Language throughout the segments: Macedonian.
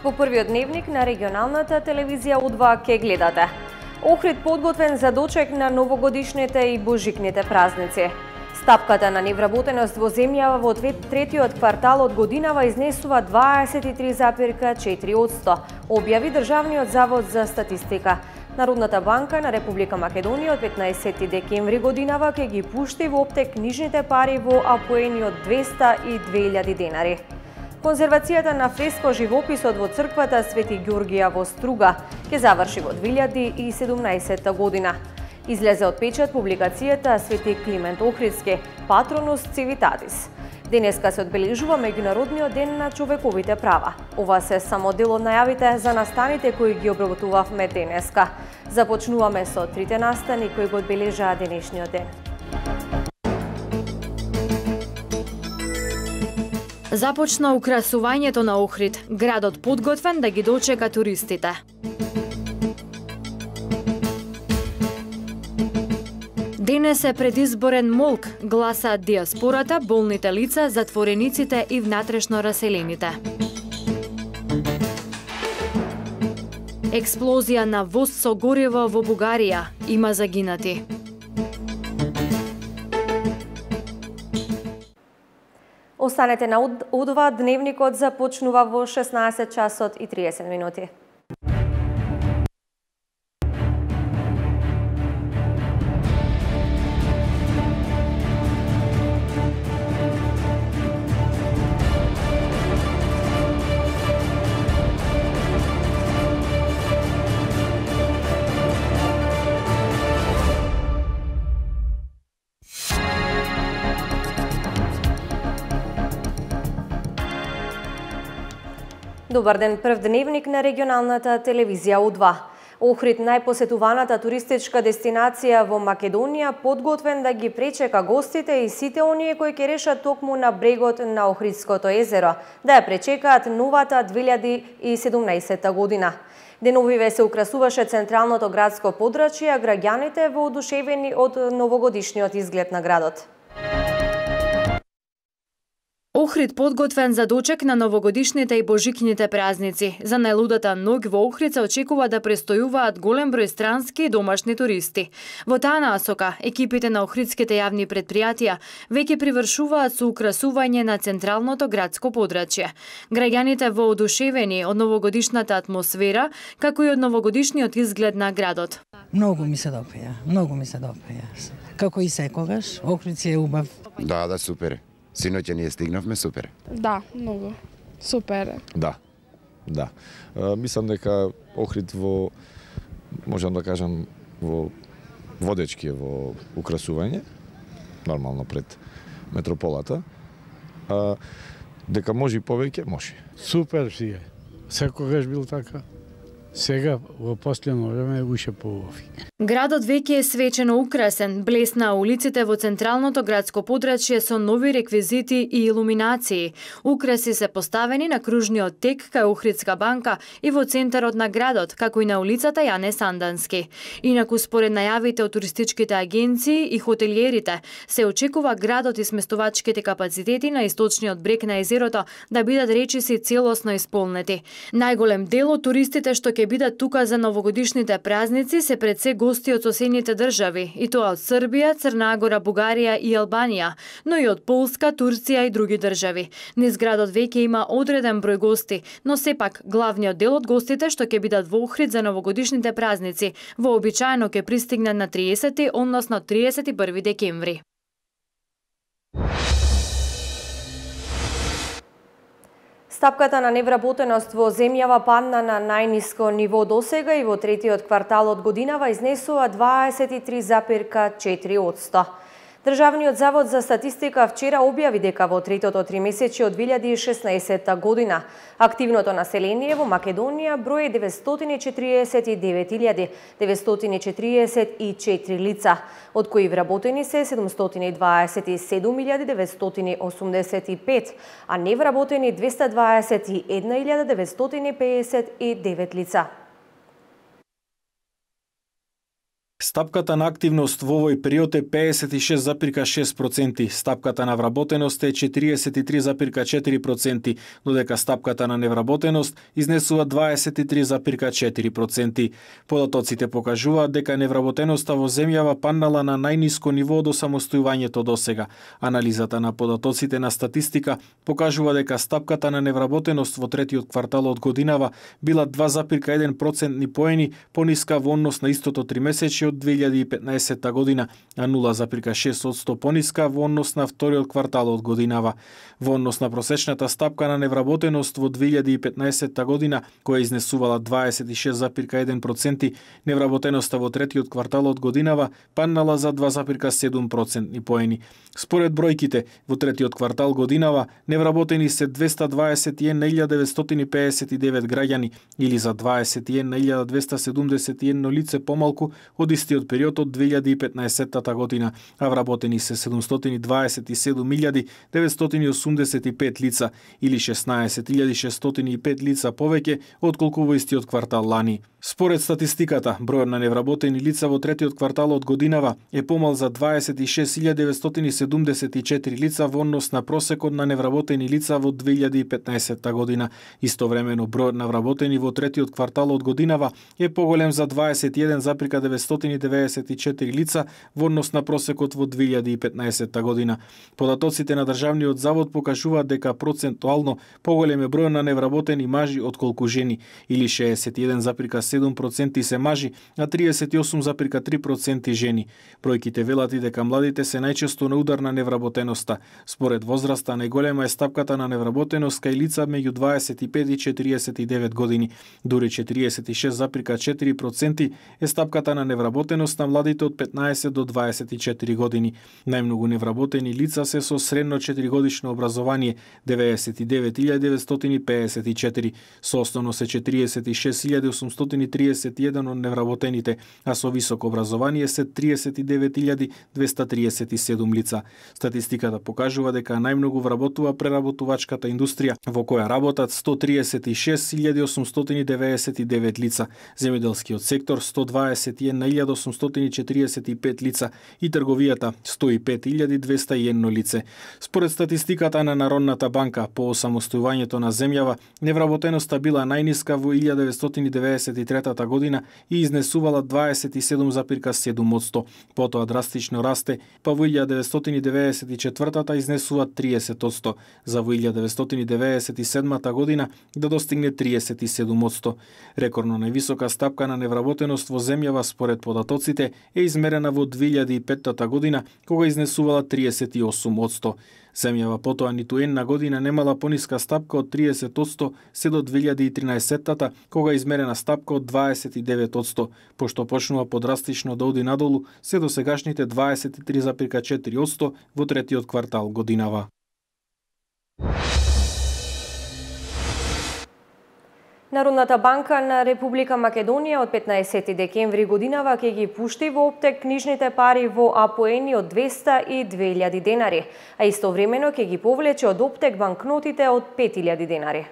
Во првиот дневник на регионалната телевизија У2 ке гледате. Охрид подготвен за дочек на новогодишните и божикните празници. Стапката на невработеност во земјава во третиот квартал од годинава изнесува 23,4%, објави Државниот завод за статистика. Народната банка на Република Македонија од 15 декември годинава ке ги пушти во оптек книжните пари во апоени од 202.000 денари. Конзервацијата на фреско живописот во црквата Свети Ѓоргија во Струга ке заврши во 2017 година. Излезе од печат публикацијата Свети Климент Охридски, Патронус Цивитатис. Денеска се одбележува Меѓународниот ден на човековите права. Ова се само дел од најавите за настаните кои ги обработувавме денеска. Започнуваме со трите настани кои го одбележаа денешниот ден. Започна украсувањето на Охрид, градот подготвен да ги дочека туристите. Денес е предизборен молк, гласаат диаспората, болните лица, затворениците и внатрешно раселените. Експлозија на воз со гориво во Бугарија, има загинати. Останете на У2, дневникот започнува во 16 часот и 30 минути. Добар ден, прв дневник на регионалната телевизија У2. Охрид, најпосетуваната туристичка дестинација во Македонија, подготвен да ги пречека гостите и сите оние кои ќе решат токму на брегот на Охридското езеро, да ја пречекаат новата 2017 година. Деновиве се украсуваше централното градско подрачје, а граѓаните воодушевени од новогодишниот изглед на градот. Охрид подготвен за дочек на новогодишните и божикните празници. За најлудата ноќ во Охрид се очекува да престојуваат голем број странски и домашни туристи. Во таа насока, екипите на охридските јавни предпријатија веќе привршуваат со украсување на централното градско подрачје. Граѓаните воодушевени од новогодишната атмосфера, како и од новогодишниот изглед на градот. Многу ми се допаја, многу ми се допаја. Како и секогаш, Охрид си е убав. Да, супер. Синоќа ние стигнавме, супер. Да, многу. Супер. Да. Мислам дека Охрид можам да кажам, водечки е во украсување, нормално пред метрополата. Дека може и повеќе, може. Супер си е. Секогаш бил така. Сега, во последно време, е уште поубав. Градот веќе е свечено украсен, блесна улиците во централното градско подрачје со нови реквизити и илуминации. Украси се поставени на кружниот тек кај Охридска банка и во центарот на градот, како и на улицата Јане Сандански. Инаку, според најавите од туристичките агенции и хотелиерите, се очекува градот и сместувачките капацитети на источниот брег на езерото да бидат речиси целосно исполнети. Најголем дел од туристите што ќе бидат тука за новогодишните празници се пред се гости од соседните држави, и тоа од Србија, Црна Гора, Бугарија и Албанија, но и од Полска, Турција и други држави. Низ градот веќе има одреден број гости, но сепак главниот дел од гостите што ќе бидат во Охрид за новогодишните празници вообичаено ќе пристигнат на 30, односно 31 декември. Стапката на невработеност во земјава падна на најниско ниво досега и во третиот квартал од годинава изнесува 23,4%. Државниот завод за статистика вчера објави дека во третото тримесечје од 2016 година активното население во Македонија брои 949.944 лица, од кои вработени се 727.985, а невработени 221.959 лица. Стапката на активност во овој период е 56,6%, стапката на вработеност е 43,4%, додека стапката на невработеност изнесува 23,4%. Податоците покажуваат дека невработеноста во земјава паднала на најниско ниво од осамостојувањето досега. Анализата на податоците на статистика покажува дека стапката на невработеност во третиот квартал од годинава била 2,1% поени пониска во однос на истото тримесечје од 2015 година, а 0,6% пониска во однос на вториот квартал од годинава. Во однос на просечната стапка на невработеност во 2015 година, која изнесувала 26,1%, невработеноста во третиот квартал од годинава паднала за 2,7% поени. Според бројките, во третиот квартал годинава невработени се 221.959 граѓани или за 21.271 лице помалку од истиот период од 2015 година, а вработени се 727.985 лица или 16.605 лица повеќе отколку во истиот квартал лани. Според статистиката, бројот на невработени лица во третиот квартал од годинава е помал за 26.974 лица во однос на просекот на невработени лица во 2015 година. Истовремено, бројот на вработени во третиот квартал од годинава е поголем за 21,994 лица во однос на просекот во 2015 година. Податоците на Државниот завод покажуваат дека процентуално поголем е бројот на невработени мажи отколку жени, или 61,7% се мажи, а 38,3% жени. Бројките велат и дека младите се најчесто на удар на невработеноста. Според возраста, најголема е стапката на невработеност кај лица меѓу 25 и 49 години. Дури 46,4% е стапката на невработеност на младите од 15 до 24 години. Најмногу невработени лица се со средно 4-годишно образование, 99.954, со основно се 46.831 од невработените, а со високо образование се 39.237 лица. Статистиката покажува дека најмногу вработува преработувачката индустрија, во која работат 136.899 лица, земјоделскиот сектор 121.845 лица и трговијата 105.201 лице. Според статистиката на Народната банка, по осамостојувањето на земјава, невработеноста била најниска во 1993 година и изнесувала 27,7%. Потоа драстично расте, па во 1994 изнесува 30%, за во 1997 година да достигне 37%. Рекордно највисока стапка на невработеност во земјава според податоците е измерена во 2005 година, кога изнесувала 38%. Земјава потоа ниту една година немала пониска стапка од 30% се до 2013-та, кога измерена стапка од 29%, пошто почнува подрастично да оди надолу се до сегашните 23,4% во третиот квартал годинава. Народната банка на Република Македонија од 15 декември годинава ќе ги пушти во оптек книжните пари во апоени од 200 и 2000 денари, а истовремено ќе ги повлече од оптек банкнотите од 5000 денари.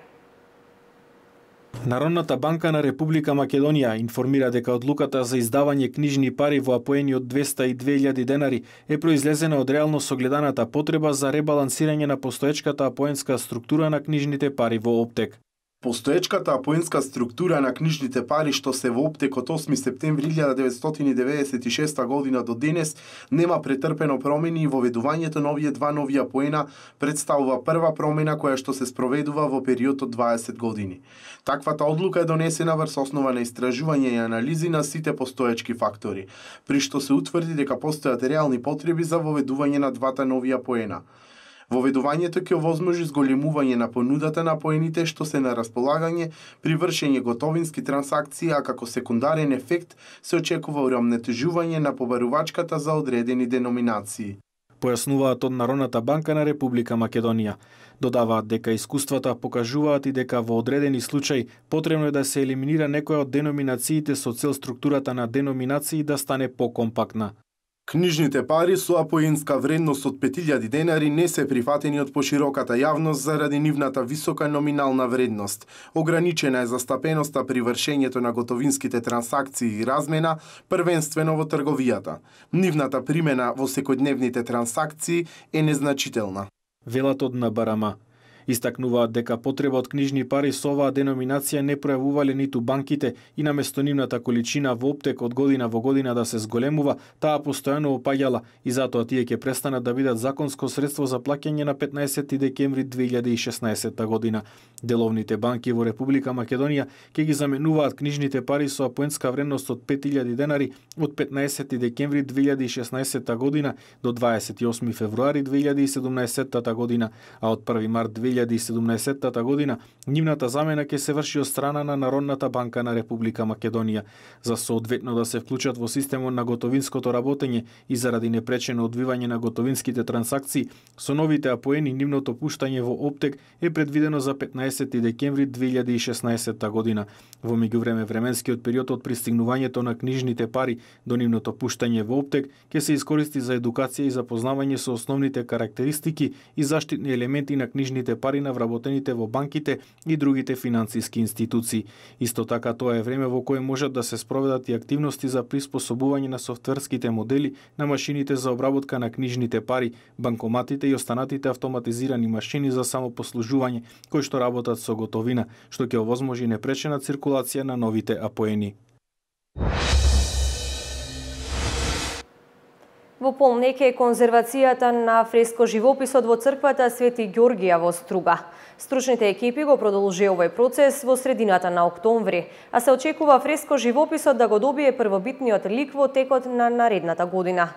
Народната банка на Република Македонија информира дека одлуката за издавање книжни пари во апоени од 200 и 2000 денари е произлезена од реално согледаната потреба за ребалансирање на постоечката апоенска структура на книжните пари во оптек. Постоечката апоенска структура на книжните пари што се во оптек од 8 септември 1996 година до денес нема претрпено промени и воведувањето на овие два нови апоена представува прва промена која што се спроведува во период од 20 години. Таквата одлука е донесена врз основа на истражување и анализи на сите постоечки фактори, при што се утврди дека постојат реални потреби за воведување на двата нови апоена. Воведувањето ќе овозможи зголемување на понудата на апоените што се на располагање при вршење готовински трансакции, а како секундарен ефект се очекува урамнетежување на побарувачката за одредени деноминации. Појаснуваат од Народната банка на Република Македонија. Додаваат дека искуствата покажуваат и дека во одредени случаи потребно е да се елиминира некоја од деноминациите со цел структурата на деноминации да стане покомпактна. Книжните пари со апоенска вредност од 5000 денари не се прифатени од пошироката јавност заради нивната висока номинална вредност. Ограничена е застапеноста при вршењето на готовинските трансакции и размена, првенствено во трговијата. Нивната примена во секојдневните трансакции е незначителна. Велат од НБРМ. Истакнуваат дека потреба од книжни пари со оваа деноминација не пројавувале ниту банките и наместо нивната количина во оптек од година во година да се зголемува, таа постојано опаѓала и затоа тие ќе престанат да бидат законско средство за плаќање на 15 декември 2016 година. Деловните банки во Република Македонија ќе ги заменуваат книжните пари со апоенска вредност од 5000 денари од 15 декември 2016 година до 28 февруари 2017 година, а од 1 март 2017 година нивната замена ќе се врши од страна на Народната банка на Република Македонија. За соодветно да се вклучат во системот на готовинското работење и заради непречено одвивање на готовинските трансакции, со новите апоени нивното пуштање во оптек е предвидено за 15 декември 2016 година. Во меѓувреме временскиот период од пристигнувањето на книжните пари до нивното пуштање во оптек ќе се искористи за едукација и запознавање со основните карактеристики и заштитни елементи на книжните пари на вработените во банките и другите финансиски институции. Исто така тоа е време во кое можат да се спроведат и активности за приспособување на софтверските модели на машините за обработка на книжните пари, банкоматите и останатите автоматизирани машини за самопослужување кои што работат со готовина, што ќе овозможи непречена циркулација на новите апоени. Во полнек е конзервацијата на фреско живописот во црквата Свети Ѓоргија во Струга. Стручните екипи го продолжија овој процес во средината на октомври, а се очекува фреско живописот да го добие првобитниот лик во текот на наредната година.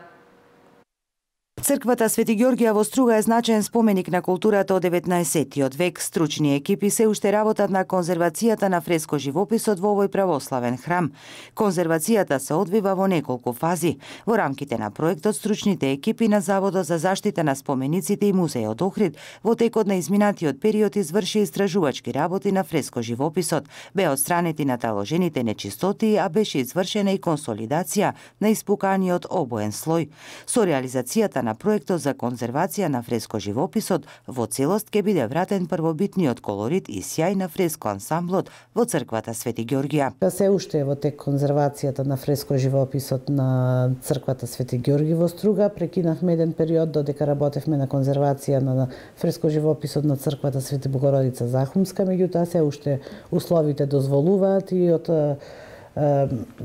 Црквата Свети Ѓоргија во Струга е значаен споменик на културата од 19-тиот век. Стручни екипи се уште работат на конзервацијата на фреско живописот во овој православен храм. Конзервацијата се одвива во неколку фази. Во рамките на проектот, стручните екипи на Заводот за заштита на спомениците и Музејот Охрид во текот на изминатиот период изврши истражувачки работи на фреско живописот. Беа отстранети наталожените нечистоти, а беше извршена и консолидација на испуканиот обоен слој. Со реализацијата на проектот за конзервација на фреско живописот во целост ќе биде вратен првобитниот колорит и сјај на фреско ансамблот во црквата Свети Ѓоргија. Се уште е во тек конзервацијата на фреско живописот на црквата Свети Ѓорги во Струга. Прекинавме еден период додека работевме на конзервација на фреско живописот на црквата Свети Богородица Захумска, меѓутоа се уште условите дозволуваат и од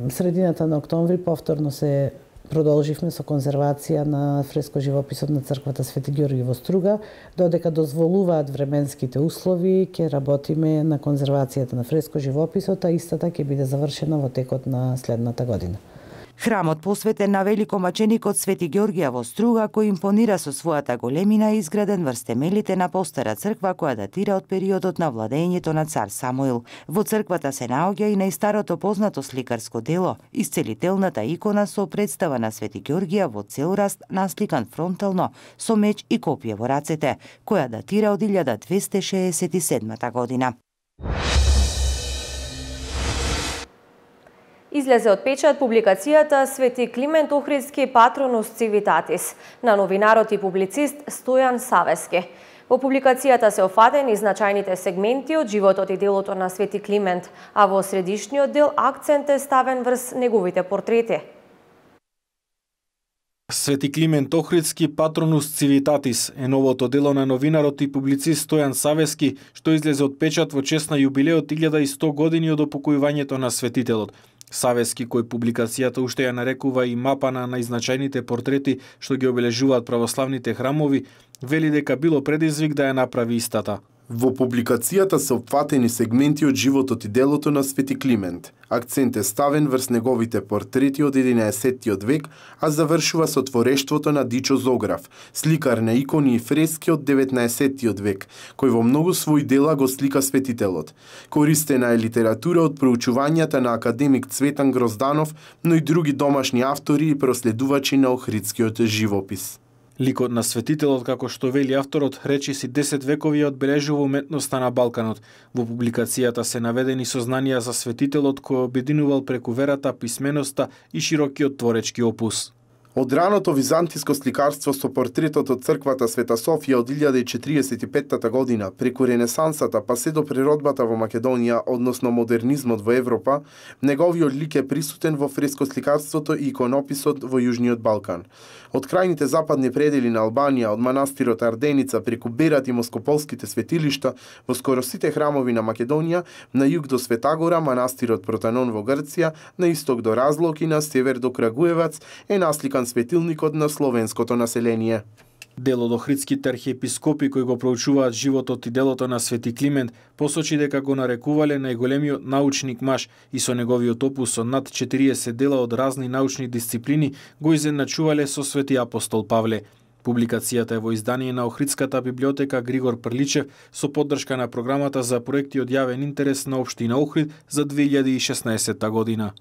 средината на октомври повторно се продолживме со конзервација на фреско живописот на црквата Свети Ѓорги во Струга, додека дозволуваат временските услови, ќе работиме на конзервацијата на фреско живописот, а истата ќе биде завршена во текот на следната година. Храмот посветен на великомаченикот Свети Ѓоргија во Струга, кој импонира со својата големина, е изграден врз темелите на постара црква која датира од периодот на владењето на цар Самуил. Во црквата се наоѓа и најстарото познато сликарско дело, исцелителната икона со представа на Свети Ѓоргија во цел раст, насликан фронтално со меч и копје во рацете, која датира од 1267 година. Излезе од печат публикацијата Свети Климент Охридски Патронус Цивитатис на новинарот и публицист Стојан Савески. Во публикацијата се офатени значајните сегменти од животот и делото на Свети Климент, а во средишниот дел акцент е ставен врз неговите портрети. Свети Климент Охридски Патронус Цивитатис е новото дело на новинарот и публицист Стојан Савески, што излезе од печат во чест на јубилеот 1100 години од опокојувањето на светителот. Савески, кој публикацијата уште ја нарекува и мапа на најзначајните портрети што ги обележуваат православните храмови, вели дека било предизвик да ја направи истата. Во публикацијата се опфатени сегменти од животот и делото на Свети Климент. Акцент е ставен врз неговите портрети од 11-тиот век, а завршува со творештвото на Дичо Зограф, сликар на икони и фрески од 19-тиот век, кој во многу своји дела го слика светителот. Користена е литература од проучувањата на академик Цветан Грозданов, но и други домашни автори и проследувачи на охридскиот живопис. Ликот на светителот, како што вели авторот, речиси 10 векови одбележува уметноста на Балканот. Во публикацијата се наведени сознанија за светителот кој обединувал преку верата, писменоста и широкиот творечки опус. Од раното византиско сликарство со портретот од црквата Света Софија од 1045 година, преку Ренесансата па се до природбата во Македонија, односно модернизмот во Европа, неговиот лик е присутен во фрескосликарството и иконописот во Јужниот Балкан. Од крајните западни предели на Албанија, од манастирот Арденица преку Берат и Москополските светилишта, во скоро сите храмови на Македонија, на југ до Светагора, манастирот Протанон во Грција, на исток до Разлог и на север до Крагуевац е насликан светилникот на словенското население. Дел од охридските архиепископи кои го проучуваат животот и делото на Свети Климент посочи дека го нарекувале најголемиот научник маж и со неговиот опус со над 40 дела од разни научни дисциплини го изедначувале со Свети апостол Павле. Публикацијата е во издание на Охридската библиотека Григор Прличев со поддршка на програмата за проекти од јавен интерес на општина Охрид за 2016 година.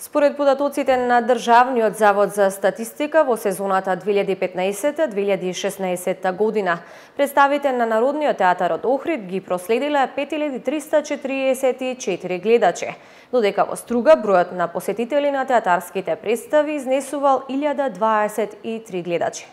Според податоците на Државниот завод за статистика во сезоната 2015-2016 година, представите на Народниот театар од Охрид ги проследиле 5344 гледачи, додека во Струга бројот на посетители на театарските представи изнесувал 1023 гледачи.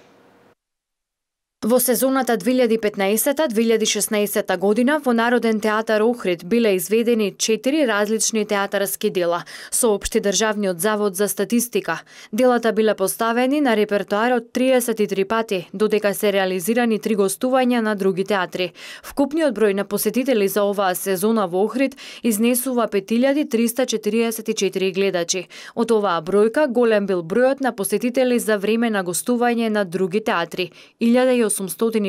Во сезоната 2015-2016 година во Народен театар Охрид биле изведени 4 различни театарски дела, соопшти Државниот завод за статистика. Делата биле поставени на репертоарот 33 пати, додека се реализирани 3 гостувања на други театри. Вкупниот број на посетители за оваа сезона во Охрид изнесува 5344 гледачи. Од оваа бројка голем бил бројот на посетители за време на гостување на други театри, 1800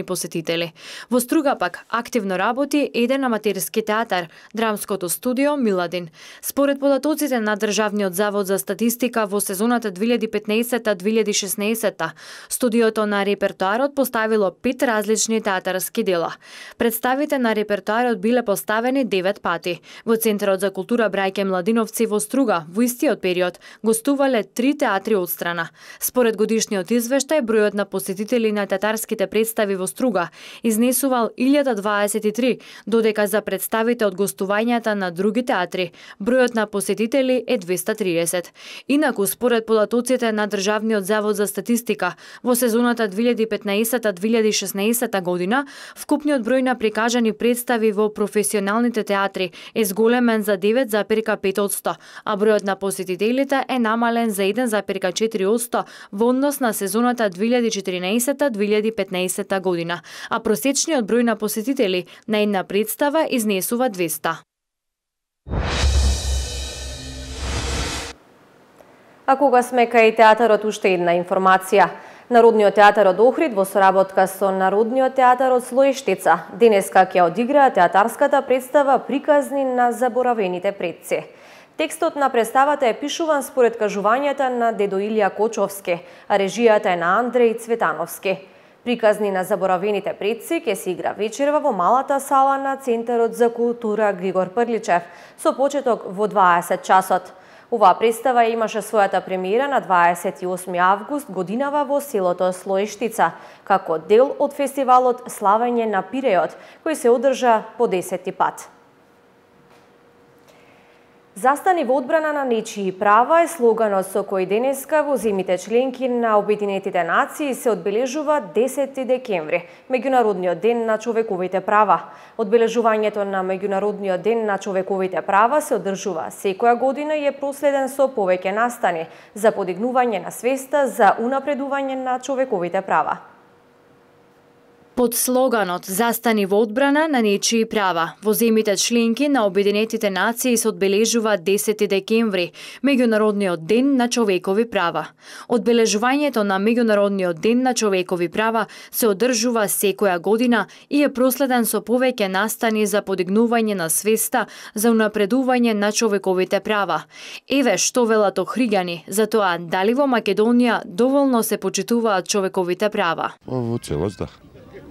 посетители. Во Струга пак активно работи еден аматерски театар, драмското студио Миладин. Според податоците на Државниот завод за статистика во сезоната 2015-2016, студиото на репертоарот поставило 5 различни театарски дела. Представите на репертоарот биле поставени 9 пати. Во Центарот за култура Брајке Младиновци во Струга во истиот период гостувале 3 театри одстрана. Според годишниот извештај, бројот на посетители на театарските представи во Струга изнесувал 1023, додека за представите од гостувањата на други театри бројот на посетители е 230. Инаку, според податоците на Државниот завод за статистика, во сезоната 2015-2016 година, вкупниот број на прикажани представи во професионалните театри е зголемен за 9,5%, а бројот на посетителите е намален за 1,4% во однос на сезоната 2014-2015 година, а просечниот број на посетители на една представа изнесува 200. А кога сме кај театарот, уште една информација. Народниот театар од Охрид во соработка со Народниот театар од Слоештица денеска ќе одиграа театарската представа Приказни на заборавените предци. Текстот на представата е пишуван според кажувањата на дедо Илија Кочовски, а режијата е на Андреј Цветановски. Приказни на заборавените предци ќе се игра вечерва во малата сала на Центарот за култура Григор Прличев со почеток во 20 часот. Оваа представа имаше својата премиера на 28 август годинава во селото Слоештица, како дел од фестивалот Славење на Пиреот, кој се одржа по 10 пат. Застани во одбрана на нечии права е слоганот со кој денеска во земите членки на Обединетите нации се одбележува 10 декември, Меѓународниот ден на човековите права. Одбележувањето на Меѓународниот ден на човековите права се одржува секоја година и е проследен со повеќе настани за подигнување на свеста за унапредување на човековите права. Под слоганот "Застани во одбрана на нечии права", во земите членки на Обединетите нации се одбележува 10 декември, Меѓународниот ден на човекови права. Одбележувањето на Меѓународниот ден на човекови права се одржува секоја година и е проследен со повеќе настани за подигнување на свеста за унапредување на човековите права. Еве што велат охриѓани за тоа дали во Македонија доволно се почитуваат човековите права. Во целост, да.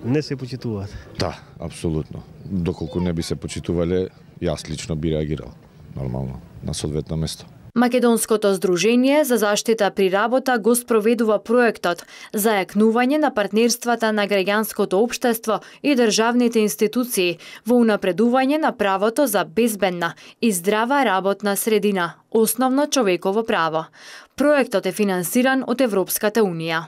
Не се почитуваат. Да, апсолутно. Доколку не би се почитувале, јас лично би реагирал нормално на соодветно место. Македонското здружение за заштита при работа го спроведува проектот за јакнување на партнерствата на граѓанското општество и државните институции во унапредување на правото за безбедна и здрава работна средина, основно човеково право. Проектот е финансиран од Европската унија.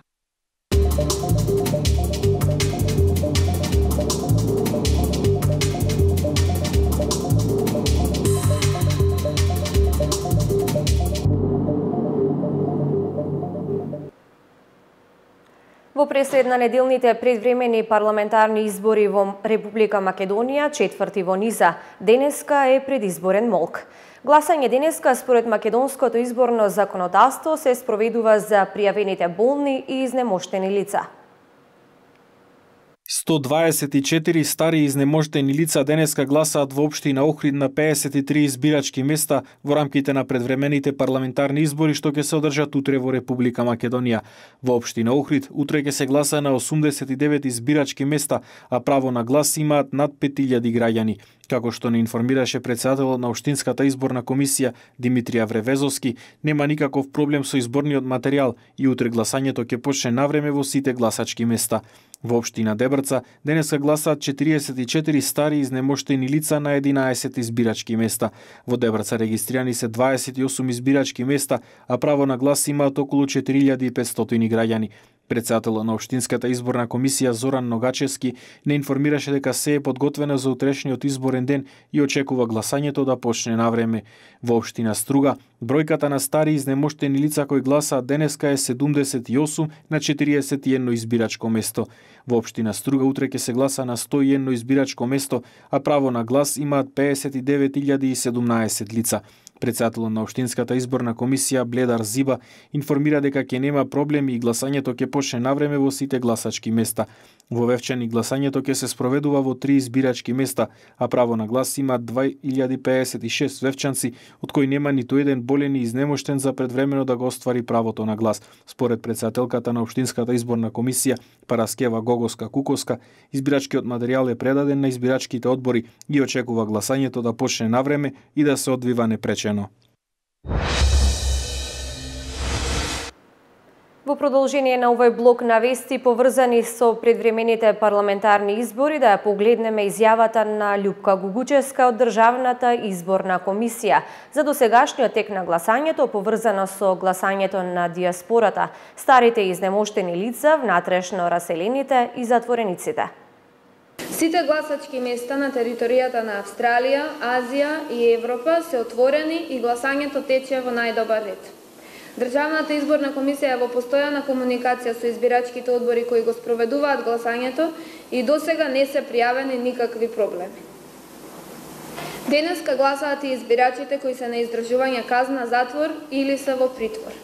Во преслед на неделните предвремени парламентарни избори во Република Македонија, четврти во низа, денеска е предизборен молк. Гласање денеска според македонското изборно законодавство се спроведува за пријавените болни и изнемоштени лица. 124 стари изнемождени лица денеска гласаат во општина Охрид на 53 избирачки места во рамките на предвремените парламентарни избори што ќе се одржат утре во Република Македонија. Во општина Охрид утре ќе се гласа на 89 избирачки места, а право на глас имаат над 5000 граѓани. Како што не информираше председателот на Општинската изборна комисија Димитрија Вревезовски, нема никаков проблем со изборниот материјал и утре гласањето ќе почне навреме во сите гласачки места. Во општина Дебрца денеска гласаат 44 стари изнемоштени лица на 11 избирачки места. Во Дебрца регистрирани се 28 избирачки места, а право на глас имаат околу 4500 граѓани. Председателот на Општинската изборна комисија Зоран Ногачевски не информираше дека се е подготвено за утрешниот изборен ден и очекува гласањето да почне навреме. Во општина Струга, бројката на стари изнемоштени лица кои гласаат денеска е 78 на 41 избирачко место. Во општина Струга утре ќе се гласа на 101 избирачко место, а право на глас имаат 59.017 лица. Председателот на Општинската изборна комисија Бледар Зиба информира дека ќе нема проблеми и гласањето ќе почне навреме во сите гласачки места. Во Вевчани гласањето ќе се спроведува во 3 избирачки места, а право на глас имаат 2056 вевчанци, од кои нема ниту еден болен и изнемоштен за предвремено да го оствари правото на глас. Според председателката на Општинската изборна комисија Параскева Гогоска-Куковска, избирачкиот материјал е предаден на избирачките одбори и очекува гласањето да почне навреме и да се одвива непречено. Во продолжение на овој блок на вести поврзани со предвремените парламентарни избори, да ја погледнеме изјавата на Љупка Гугучевска од Државната изборна комисија за досегашниот тек на гласањето поврзано со гласањето на диаспората, старите и изнемоштени лица, внатрешно раселените и затворениците. Сите гласачки места на територијата на Австралија, Азија и Европа се отворени и гласањето тече во најдобар ред. Државната изборна комисија е во постојана комуникација со избирачките одбори кои го спроведуваат гласањето и досега не се пријавени никакви проблеми. Денеска гласаат и избирачите кои се на издржување казна затвор или се во притвор.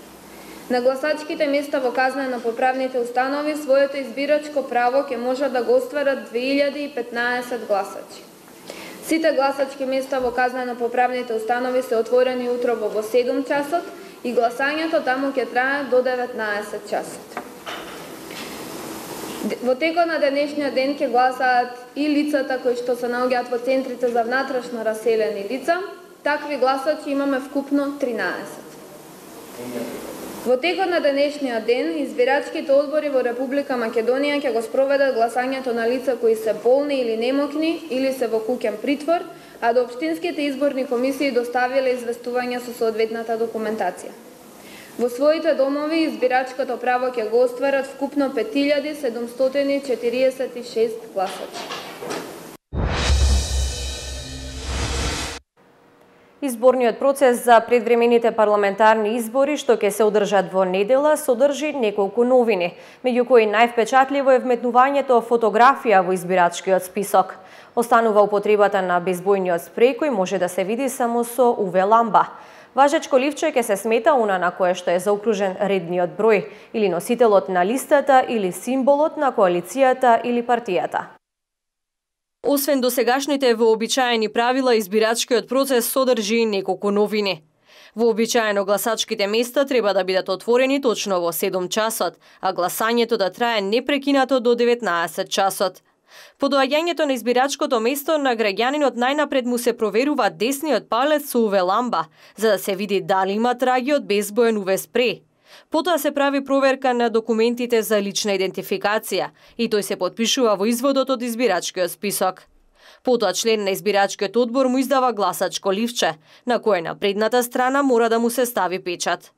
На гласачките места во казнено-поправните установи своето избирачко право ќе можат да го остварат 2015 гласачи. Сите гласачки места во казнено-поправните установи се отворени утрово во 7 часот и гласањето таму ќе трае до 19 часот. Во текот на денешниот ден ќе гласаат и лицата кои што се наоѓаат во центрите за внатрешно раселени лица. Такви гласачи имаме вкупно 13. Во текот на денешниот ден, избирачките одбори во Република Македонија ќе го спроведат гласањето на лица кои се болни или немокни или се во куќен притвор, а до општинските изборни комисии доставиле известување со соодветната документација. Во своите домови избирачкото право ќе го остварат вкупно 5746 гласачи. Изборниот процес за предвремените парламентарни избори што ќе се одржат во недела содржи неколку новини, меѓу кои највпечатливо е вметнувањето фотографија во избирачкиот список. Останува употребата на безбојниот спреј кој може да се види само со UV ламба. Важечко ливче ќе се смета она на кое што е заокружен редниот број или носителот на листата или символот на коалицијата или партијата. Освен досегашните вообичаени правила, избирачкиот процес содржи и неколку новини. Вообичаено гласачките места треба да бидат отворени точно во 7 часот, а гласањето да трае непрекинато до 19 часот. По доаѓањето на избирачкото место на граѓанинот најнапред му се проверува десниот палец со UV ламба, за да се види дали има траги од безбоен UV спреј. Потоа се прави проверка на документите за лична идентификација и тој се потпишува во изводот од избирачкиот список. Потоа член на избирачкиот одбор му издава гласачко ливче, на кое на предната страна мора да му се стави печат.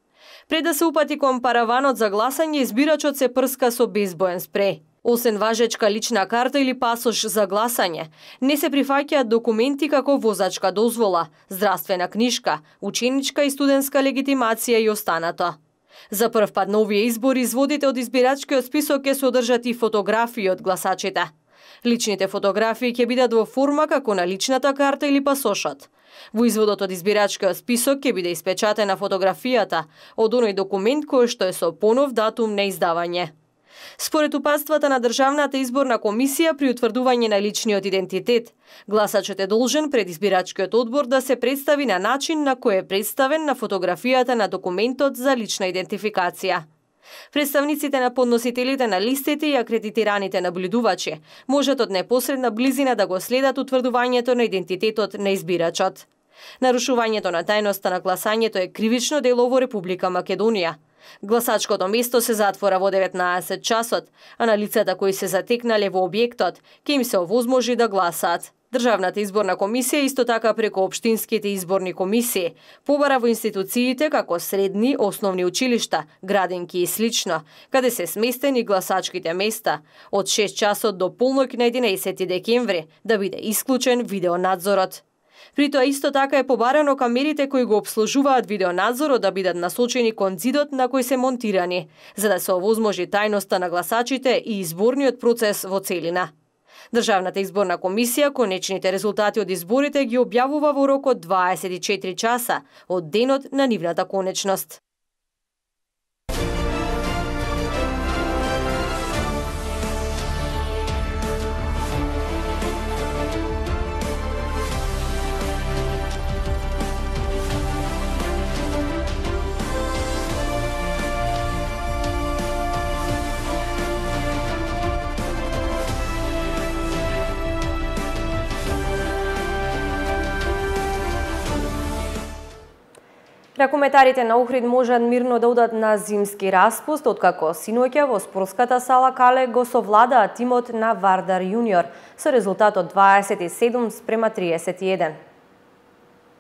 Пред да се упати кон параванот за гласање, избирачот се прска со безбоен спреј. Освен важечка лична карта или пасош за гласање, не се прифаќаат документи како возачка дозвола, здравствена книшка, ученичка и студентска легитимација и останато. За прв пат на овие избори изводите од избирачкиот список ќе содржат и фотографии од гласачите. Личните фотографии ќе бидат во форма како на личната карта или пасошот. Во изводот од избирачкиот список ќе биде испечатена фотографијата од оној документ кој што е со понов датум на издавање. Според упатствата на Државната изборна комисија при утврдување на личниот идентитет, гласачот е должен пред избирачкиот одбор да се представи на начин на кој е представен на фотографијата на документот за лична идентификација. Представниците на подносителите на листите и акредитираните наблюдувачи можат од непосредна близина да го следат утврдувањето на идентитетот на избирачот. Нарушувањето на тајноста на гласањето е кривично дело во Република Македонија. Гласачкото место се затвора во 19 часот, а на лицата кои се затекнале во објектот ќе им се овозможи да гласаат. Државната изборна комисија исто така преку општинските изборни комисии побара во институциите како средни, основни училишта, градинки и слично, каде се сместени гласачките места од 6 часот до полноќ на 11 декември да биде исклучен видеонадзорот. При тоа исто така е побарано камерите кои го обслужуваат видеонадзорот да бидат насочени кон зидот на кој се монтирани, за да се овозможи тајноста на гласачите и изборниот процес во целина. Државната изборна комисија конечните резултати од изборите ги објавува во рок од 24 часа од денот на нивната конечност. Ракометарите на Охрид можат мирно да одат на зимски распуст, откако синоќа во спортската сала Кале го совладаа тимот на Вардар Јуниор со резултат од 27-31.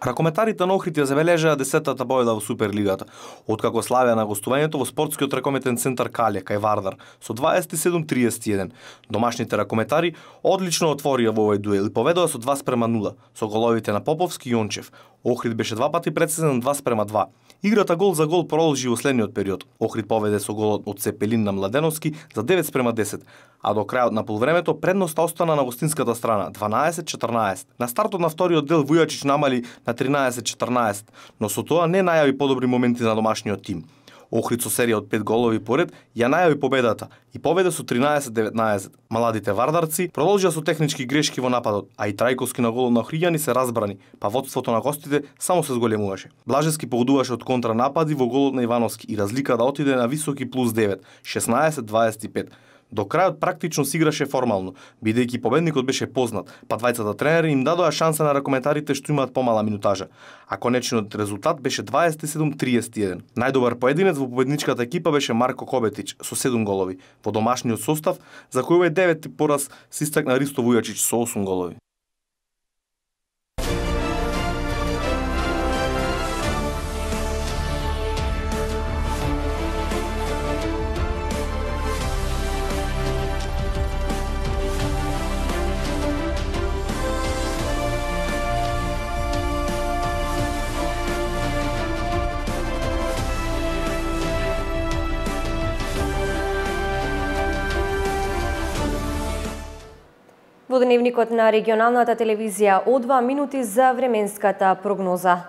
Ракометарите на Охрид ја забележаа 10-та победа во Суперлигата, откако славеа на гостувањето во спортскиот ракометен центар Кале кај Вардар со 27-31. Домашните ракометари одлично отворија во овој дуел и поведоа со 2:0 со головите на Поповски и Јончев. Охрид беше два пати председен 2:2. Играта гол за гол продолжи во следниот период. Охрид поведе со голот од Цепелин на Младеновски за 9:10, а до крајот на полувремето предноста остана на гостинската страна 12-14. На стартот на вториот дел Вујачич намали на 13-14, но со тоа не најави подобри моменти на домашниот тим. Охрид со серија од 5 голови поред ја најави победата и поведе со 13-19. Маладите вардарци продолжија со технички грешки во нападот, а и Трајковски на голот на Охриѓани се разбрани, па водството на гостите само се зголемуваше. Блажевски погодуваше од контранапади во голот на Ивановски и разлика да отиде на високи плюс 9, 16-25. До крајот практично се играше формално, бидејќи победникот беше познат, па двајцата тренери им дадоа шанса на ракометарите што имаат помала минутажа, а конечниот резултат беше 27-31. Најдобар поединец во победничката екипа беше Марко Кобетич со 7 голови. Во домашниот состав, за кој овој 9 пораз се истакна Ристо Вујачич со 8 голови. Во дневникот на регионалната телевизија О2 минути за временската прогноза.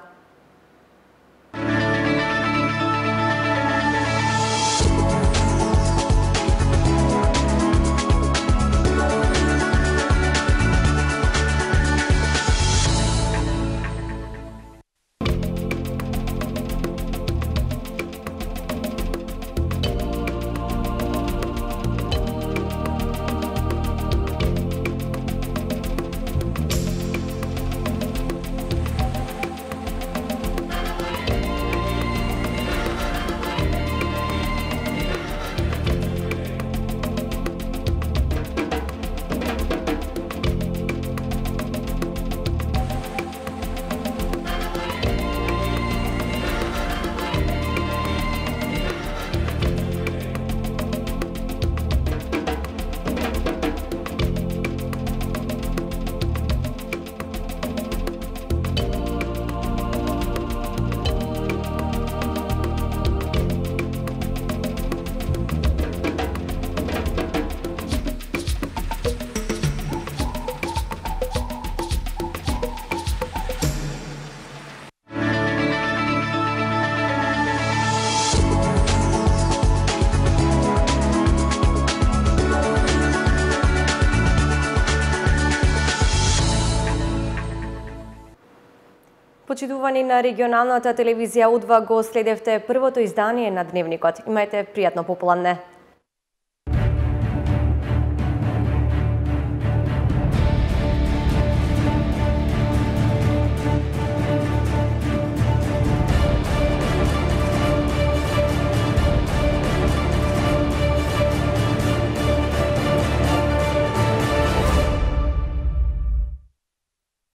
почитувани на регионалната телевизија Удва, го следевте првото издание на Дневникот. Имајте пријатно попладне.